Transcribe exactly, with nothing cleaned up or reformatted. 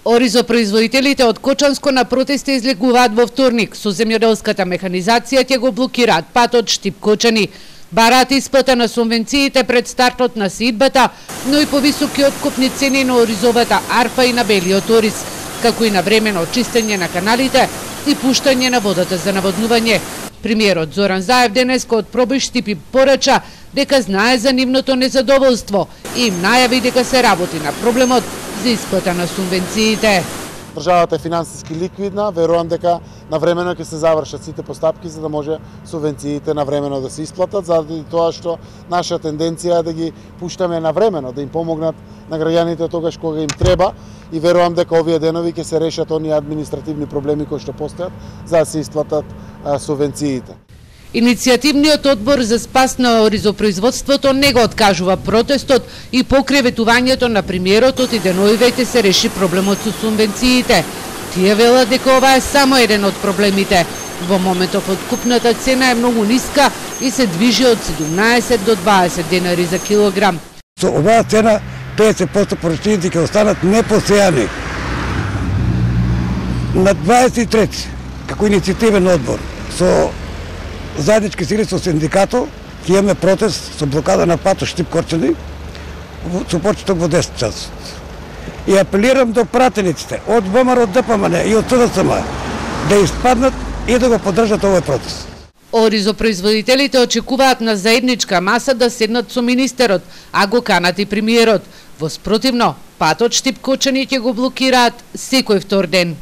Оризопроизводителите од Кочанско на протести излегуваат во вторник. Со земјоделската механизација ќе го блокираат патот Штип-Кочани. Бараат исплата на субвенциите пред стартот на сеидбата, но и повисоки откупни цени на оризовата арпа и на белиот ориз, како и на времено чистење на каналите и пуштање на водата за наводнување. Премиерот Зоран Заев денеска од Пробој Штип порача дека знае за нивното незадоволство и им најави дека се работи на проблемот за исплата на субвенциите. Државата е финансиски ликвидна, верувам дека навремено ќе се завршат сите постапки за да може субвенциите навремено да се исплатат, заради тоа што наша тенденција е да ги пуштаме навремено, да им помогнат на граѓаните тогаш кога им треба, и верувам дека овие денови ќе се решат оние административни проблеми кои што постојат за да се исплатат а, субвенциите. Иницијативниот одбор за спас на оризопроизводството не го откажува протестот и покреветувањето на премиерот и деновиве ќе се реши проблемот со субвенциите. Тие велат дека ова е само еден од проблемите. Во моментов откупната цена е многу ниска и се движи од седумнаесет до дваесет денари за килограм. Со оваа цена петдесет проценти порачините ќе останат непосејани. На дваесет и трети како иницијативен одбор со заеднички сили со синдикатот ќе имаме протест со блокада на патот Штип-Кочани со почеток во десет часот. И апелирам до пратениците од ВМРО, од ДПМН и од СДСМ да испаднат и да го поддржат овој протест. Оризопроизводителите очекуваат на заедничка маса да седнат со министерот, а го канат и премиерот. Во спротивно, патот Штип-Кочани ќе го блокираат секој втор ден.